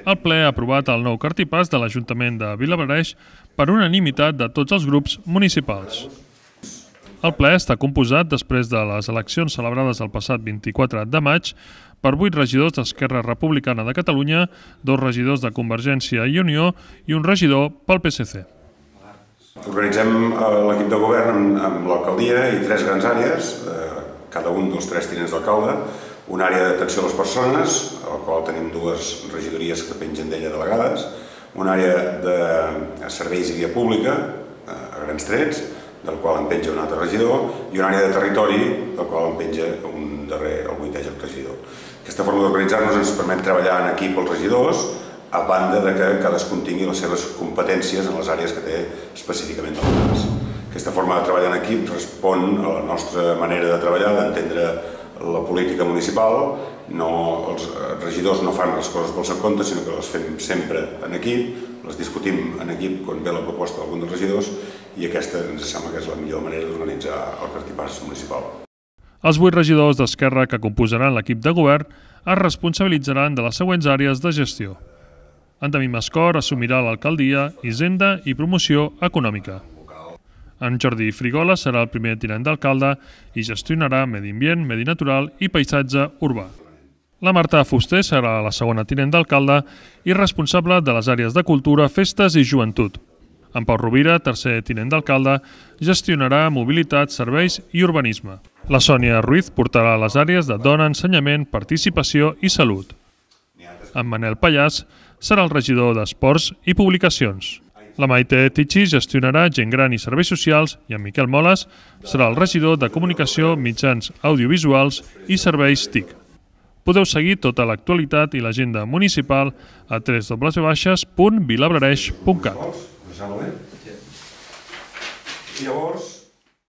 El ple ha aprovat el nou cartipàs de l'Ajuntament de Vilablareix per unanimitat de tots els grups municipals. El ple està composat després de les eleccions celebrades el passat 24 de maig per 8 regidors d'Esquerra Republicana de Catalunya, 2 regidors de Convergència i Unió i un regidor pel PSC. Organitzem l'equip de govern amb l'alcaldia i 3 grans àrees, cada un dels 3 tinents d'alcalde, una àrea d'atenció a les persones, a la qual tenim 2 regidories que pengen d'ella delegades, una àrea de serveis i via pública, a grans trets, del qual en penja un altre regidor, i una àrea de territori, del qual en penja un darrer, el 8è regidor. Aquesta forma d'organitzar-nos ens permet treballar en equip els regidors, a banda de que cadascun tingui les seves competències en les àrees que té específicament delegades. Aquesta forma de treballar en equip respon a la nostra manera de treballar, d'entendre la política municipal. Els regidors no fan les coses pel seu compte, sinó que les fem sempre en equip, les discutim en equip quan ve la proposta d'algun dels regidors, i aquesta ens sembla que és la millor manera d'organitzar el cartipàs municipal. Els 8 regidors d'Esquerra que composaran l'equip de govern es responsabilitzaran de les següents àrees de gestió. Endemí Mascor assumirà l'alcaldia, Hisenda i promoció econòmica. En Jordi Frigola serà el primer tinent d'alcalde i gestionarà medi ambient, medi natural i paisatge urbà. La Marta Fuster serà la segona tinent d'alcalde i responsable de les àrees de cultura, festes i joventut. En Pau Rovira, tercer tinent d'alcalde, gestionarà mobilitat, serveis i urbanisme. La Sònia Ruiz portarà les àrees de dona, ensenyament, participació i salut. En Manel Pallàs serà el regidor d'Esports i Publicacions. La Maite Tichy gestionarà gent gran i serveis socials i en Miquel Moles serà el regidor de Comunicació, Mitjans Audiovisuals i Serveis TIC. Podeu seguir tota l'actualitat i l'agenda municipal a www.vilablareix.cat. Llavors,